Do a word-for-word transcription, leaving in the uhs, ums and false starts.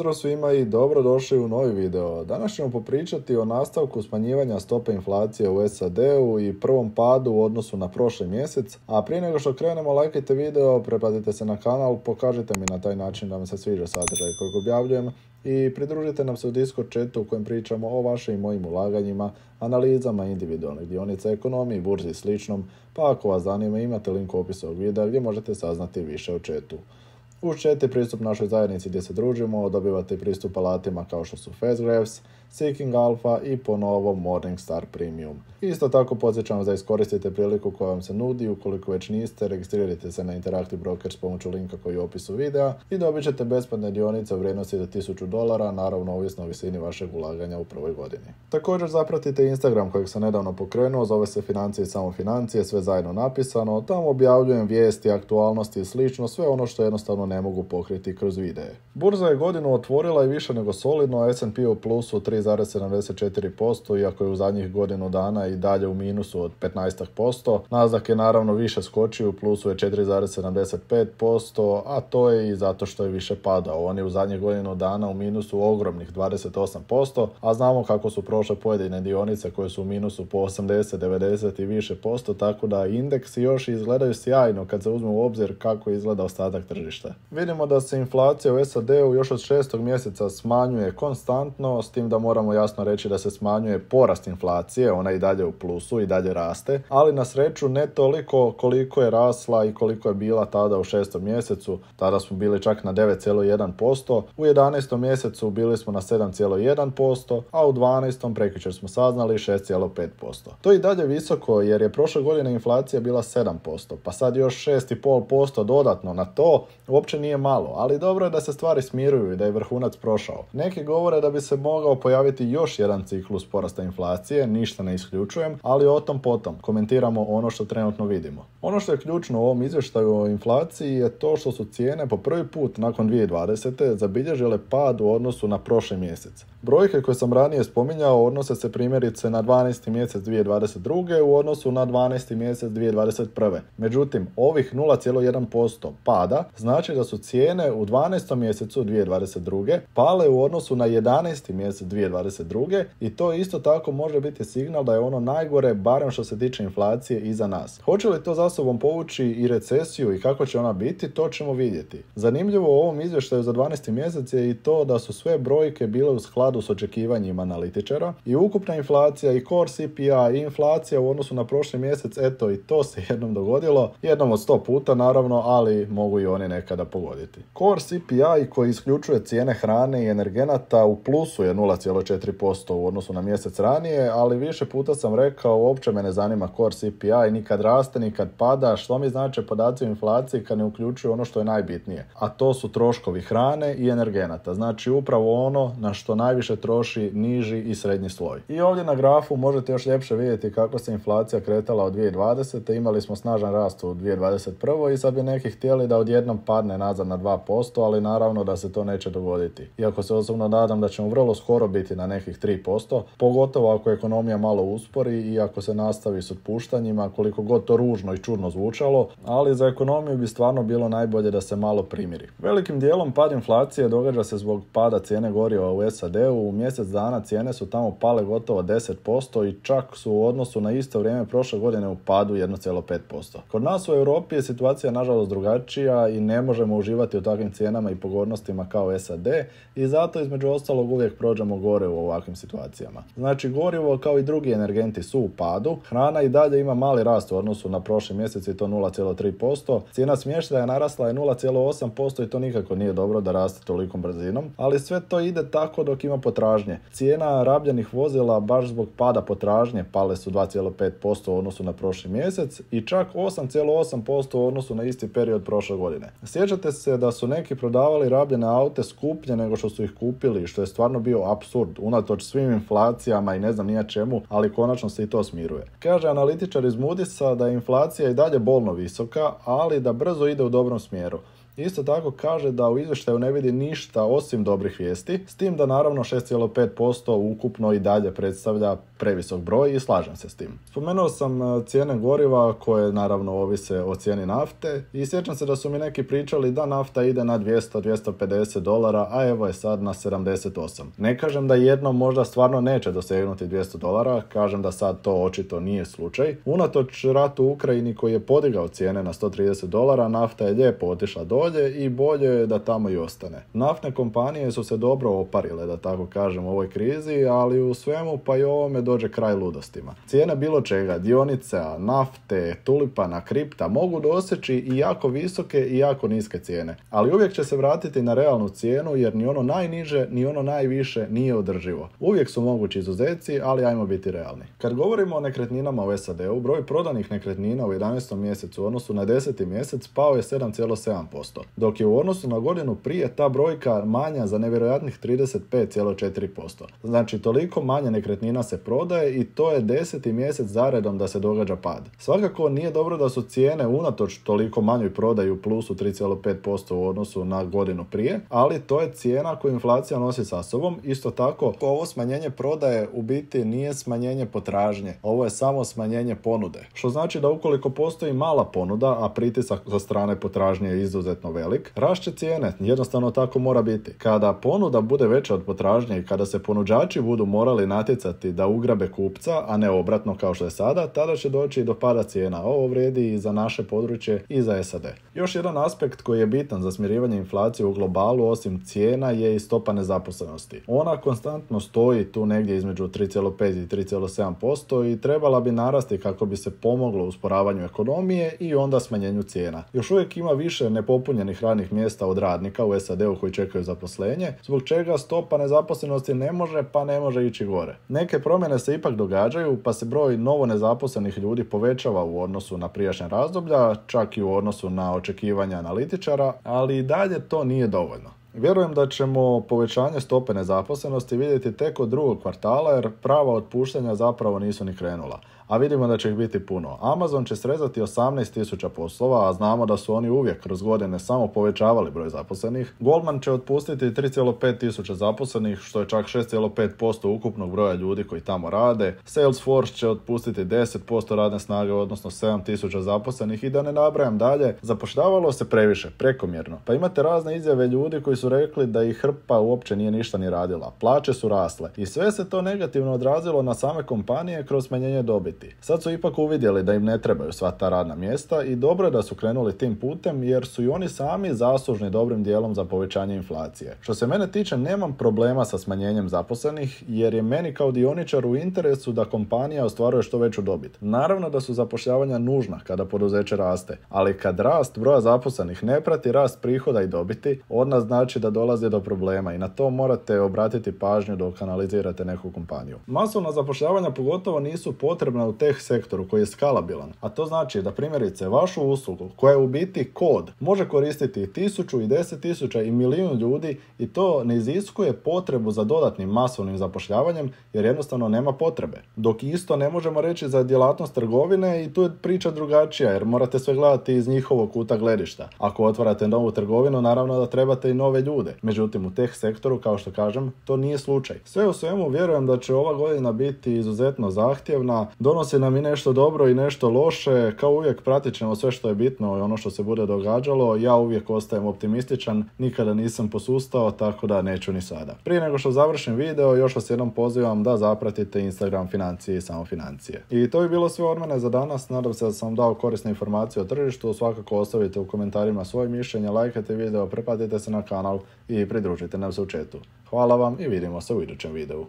Pozdrav svima i dobrodošli u novi video. Danas ćemo popričati o nastavku smanjivanja stope inflacije u S A D-u i prvom padu u odnosu na prošli mjesec, a prije nego što krenemo, lajkajte video, pretplatite se na kanal, pokažite mi na taj način da vam se sviđa sadržaj kojeg objavljujem i pridružite nam se u Discord chatu u kojem pričamo o vašim i mojim ulaganjima, analizama individualnih dionica, ekonomiji, burzi i sličnom, pa ako vas zanima imate link u opisu ovog videa gdje možete saznati više o chatu. Uz chat je pristup našoj zajednici gdje se družimo, dobivate pristup alatima kao što su FastGraphs, Seeking Alpha i po novom Morningstar Premium. Isto tako podsjećam vas da iskoristite priliku koja vam se nudi, ukoliko već niste, registrirajte se na Interactive Brokers s pomoću linka koji je u opisu videa i dobit ćete besplatne dionice u vrijednosti do tisuću dolara, naravno ovisno o visini vašeg ulaganja u prvoj godini. Također zapratite Instagram kojeg sam nedavno pokrenuo, zove se Financije i samo financije, sve zajedno napisano, tamo objavljujem vijesti, aktualnosti i slično, sve ono što jednostavno ne mogu pokriti kroz videe. Burza je godinu otvorila i više nego solidno, S and P u plusu tri zarez sedamdeset četiri posto, iako je u zadnjih godinu dana i dalje u minusu od petnaest posto. Nasdaq je naravno više skočio, u plusu je četiri zarez sedamdeset pet posto, a to je i zato što je više padao. On je u zadnjih godinu dana u minusu ogromnih dvadeset osam posto, a znamo kako su prošle pojedine dionice koje su u minusu po osamdeset, devedeset i više posto, tako da indeksi još izgledaju sjajno kad se uzme u obzir kako izgleda ostatak tržišta. Vidimo da se inflacija u S A D-u još od šestog mjeseca smanjuje konstantno, s tim da moramo jasno reći da se smanjuje porast inflacije, ona i dalje u plusu i dalje raste, ali na sreću ne toliko koliko je rasla i koliko je bila tada u šestom mjesecu, tada smo bili čak na devet zarez jedan posto, u jedanaestom mjesecu bili smo na sedam zarez jedan posto, a u dvanaestom prekjučer smo saznali šest zarez pet posto. To je i dalje visoko jer je prošle godine inflacija bila sedam posto, pa sad još šest zarez pet posto dodatno na to, uopće nije malo, ali dobro je da se stvari smiruju i da je vrhunac prošao. Neki govore da bi se mogao pojaviti još jedan ciklus porasta inflacije, ništa ne isključujem, ali o tom potom. Komentiramo ono što trenutno vidimo. Ono što je ključno u ovom izvještaju o inflaciji je to što su cijene po prvi put nakon dvije tisuće dvadesete zabilježile pad u odnosu na prošli mjesec. Brojke koje sam ranije spominjao odnose se primjerice na dvanaesti mjesec dvije tisuće dvadeset druge u odnosu na dvanaesti mjesec dvije tisuće dvadeset prve. Međutim, ovih nula zarez jedan posto pada znači da su cijene u dvanaestom mjesecu dvije tisuće dvadeset druge pale u odnosu na jedanaesti mjesec dvije tisuće dvadeset druge i to isto tako može biti signal da je ono najgore, barem što se tiče inflacije, iza nas. Hoće li to za sobom povući i recesiju i kako će ona biti, to ćemo vidjeti. Zanimljivo u ovom izvještaju za dvanaesti mjesec je i to da su sve brojke bile u skladu s očekivanjima analitičara i ukupna inflacija i core C P I i inflacija u odnosu na prošli mjesec, eto i to se jednom dogodilo, jednom od sto puta naravno, ali mogu i oni nekada pogoditi. Core C P I koji isključuje cijene hrane i energenata u plusu je nula zarez četiri posto u odnosu na mjesec ranije, ali više puta sam rekao uopće me ne zanima core C P I, nikad raste, nikad pada, što mi znači podaci o inflaciji kad ne uključuju ono što je najbitnije, a to su troškovi hrane i energenata, znači upravo ono na što najviše troši niži i srednji sloj. I ovdje na grafu možete još ljepše vidjeti kako se inflacija kretala od dvije tisuće dvadesete, imali smo snažan rast u dvije tisuće dvadeset prvoj i sad bi neki htjeli da odjednom padne nazad na dva posto, ali naravno da se to neće dogoditi. Iako se osobno nadam da ćemo vrlo skoro biti na nekih tri posto, pogotovo ako ekonomija malo uspori i ako se nastavi s otpuštanjima, koliko god to ružno i čudno zvučalo, ali za ekonomiju bi stvarno bilo najbolje da se malo primiri. Velikim dijelom pad inflacije događa se zbog pada cijene goriva u S A D-u, u mjesec dana cijene su tamo pale gotovo deset posto i čak su u odnosu na isto vrijeme prošle godine u padu jedan zarez pet posto. Kod nas u Europi je situacija nažalost drugačija i ne možemo uživati u takvim cijenama i pogodnostima kao S A D i zato između ostalog uvijek prođemo gore u ovakvim situacijama. Znači gorivo kao i drugi energenti su u padu, hrana i dalje ima mali rast u odnosu na prošli mjesec i to nula zarez tri posto, cijena smještaja narasla je nula zarez osam posto i to nikako nije dobro da raste tolikom brzinom, ali sve to ide tako dok ima potražnje. Cijena rabljenih vozila baš zbog pada potražnje pale su dva zarez pet posto u odnosu na prošli mjesec i čak osam zarez osam posto u odnosu na isti period prošle godine. Sjećate se da su neki prodavali rabljene aute skuplje nego što su ih kupili, što je stvarno bio apsurd, unatoč svim inflacijama i ne znam nija čemu, ali konačno se i to smiruje. Kaže analitičar iz Moody'sa da je inflacija i dalje bolno visoka, ali da brzo ide u dobrom smjeru. Isto tako kaže da u izvještaju ne vidi ništa osim dobrih vijesti, s tim da naravno šest zarez pet posto ukupno i dalje predstavlja previsok broj i slažem se s tim. Spomenuo sam cijene goriva koje naravno ovise o cijeni nafte i sjećam se da su mi neki pričali da nafta ide na dvjesto do dvjesto pedeset dolara, a evo je sad na sedamdeset osam. Ne kažem da jednom možda stvarno neće dosegnuti dvjesto dolara, kažem da sad to očito nije slučaj. Unatoč ratu u Ukrajini koji je podigao cijene na sto trideset dolara, nafta je lijepo otišla dolje i bolje je da tamo i ostane. Naftne kompanije su se dobro oparile, da tako kažem, u ovoj krizi, ali u svemu pa i ovome dođe kraj ludostima. Cijene bilo čega, dionica, nafte, tulipana, kripta mogu doseći i jako visoke i jako niske cijene, ali uvijek će se vratiti na realnu cijenu jer ni ono najniže ni ono najviše nije održivo. Uvijek su mogući izuzeci, ali ajmo biti realni. Kad govorimo o nekretninama u S A D-u, broj prodanih nekretnina u jedanaestom mjesecu u odnosu na deseti mjesec pao je sedam zarez sedam posto, dok je u odnosu na godinu prije ta brojka manja za nevjerojatnih trideset pet zarez četiri posto. Znači toliko manje nekretnina se prodaje i to je deseti mjesec zaredom da se događa pad. Svakako nije dobro da su cijene unatoč toliko manjoj prodaji u plusu tri zarez pet posto u odnosu na godinu prije, ali to je cijena koju inflacija nosi sa sobom. Isto tako, ovo smanjenje prodaje u biti nije smanjenje potražnje, ovo je samo smanjenje ponude. Što znači da ukoliko postoji mala ponuda, a pritisak sa strane potražnje je izuzetno velik, rašće cijene, jednostavno tako mora biti. Kada ponuda bude veća od potražnje i kada se ponuđači budu morali natjecati da ugrabe kupca, a ne obratno kao što je sada, tada će doći do pada cijena. Ovo vrijedi i za naše područje i za S A D. Još jedan aspekt koji je bitan za smirivanje inflacije u globalu osim cijena je i stopa nezaposlenosti. Ona konstantno stoji tu negdje između tri zarez pet i tri zarez sedam posto i trebala bi narasti kako bi se pomoglo usporavanju ekonomije i onda smanjenju cijena. Još uvijek ima više nepopunjenih radnih mjesta od radnika u S A D-u koji čekaju zaposlenje, zbog čega stopa nezaposlenosti ne može pa ne može ići gore. Neke promjene se ipak događaju, pa se broj novo nezaposlenih ljudi povećava u odnosu na prijašnja razdoblja, čak i u odnosu na očekivanja analitičara, ali i dalje to nije dovoljno. Vjerujem da ćemo povećanje stope nezaposlenosti vidjeti tek od drugog kvartala jer prava otpuštanja zapravo nisu ni krenula. A vidimo da će ih biti puno. Amazon će srezati osamnaest tisuća poslova, a znamo da su oni uvijek kroz godine samo povećavali broj zaposlenih. Goldman će otpustiti tri zarez pet tisuća zaposlenih, što je čak šest zarez pet posto ukupnog broja ljudi koji tamo rade. Salesforce će otpustiti deset posto radne snage, odnosno sedam tisuća zaposlenih i da ne nabrajam dalje. Zapošljavalo se previše, prekomjerno. Pa imate razne izjave ljudi koji su rekli da ih hrpa uopće nije ništa ni radila. Plaće su rasle i sve se to negativno odrazilo na same kompanije kroz smanjenje dobiti. Sad su ipak uvidjeli da im ne trebaju sva ta radna mjesta i dobro je da su krenuli tim putem jer su i oni sami zaslužni dobrim dijelom za povećanje inflacije. Što se mene tiče, nemam problema sa smanjenjem zaposlenih jer je meni kao dioničar u interesu da kompanija ostvaruje što veću dobit. Naravno da su zapošljavanja nužna kada poduzeće raste, ali kad rast broja zaposlenih ne prati rast prihoda i dobiti, onda znači da dolazi do problema i na to morate obratiti pažnju dok analizirate neku kompaniju. Masovna zapošljavanja pogotovo nisu potrebna u tech sektoru koji je skalabilan, a to znači da primjerice vašu uslugu koja je u biti kod može koristiti i tisuću i deset tisuća i milijun ljudi i to ne iziskuje potrebu za dodatnim masovnim zapošljavanjem jer jednostavno nema potrebe. Dok isto ne možemo reći za djelatnost trgovine i tu je priča drugačija jer morate sve gledati iz njihovog kuta gledišta. Ako otvarate novu trgovinu, naravno da trebate i nove ljude. Međutim, u tech sektoru, kao što kažem, to nije slučaj. Sve u svemu vjerujem da će ova godina biti izuzetno zahtjevna, donosi nam i nešto dobro i nešto loše, kao uvijek pratit ćemo sve što je bitno i ono što se bude događalo. Ja uvijek ostajem optimističan, nikada nisam posustao, tako da neću ni sada. Prije nego što završim video, još vas jednom pozivam da zapratite Instagram Financije i Samo Financije. I to bi bilo sve od mene za danas, nadam se da sam dao korisne informacije o tržištu, svakako ostavite u komentarima svoje mišljenje, lajkajte video, pretplatite se na kanal i pridružite nam se u chatu. Hvala vam i vidimo se u idućem videu.